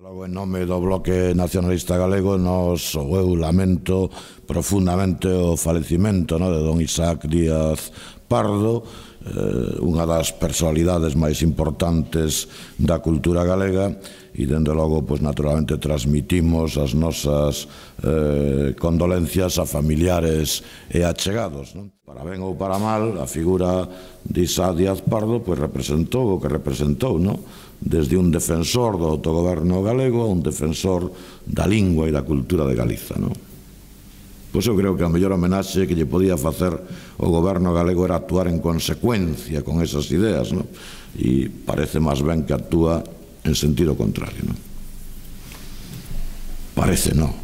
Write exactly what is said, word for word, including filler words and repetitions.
Logo, en nome do Bloque Nacionalista Galego, nos, ou eu lamento profundamente o falecimento no, de don Isaac Díaz Pardo, eh, unha das personalidades máis importantes da cultura galega, e, dende logo, pues, naturalmente, transmitimos as nosas eh, condolencias a familiares e achegados. Non? Para ben ou para mal, a figura de Isaac Díaz Pardo pues, representou o que representou, non? Desde un defensor do autogoberno galego a un defensor da lingua e da cultura de Galiza. Non? Pois eu creo que a mellor homenaxe que lle podía facer o goberno galego era actuar en consecuencia con esas ideas, non? E parece máis ben que actúa en sentido contrario. Non? Parece non.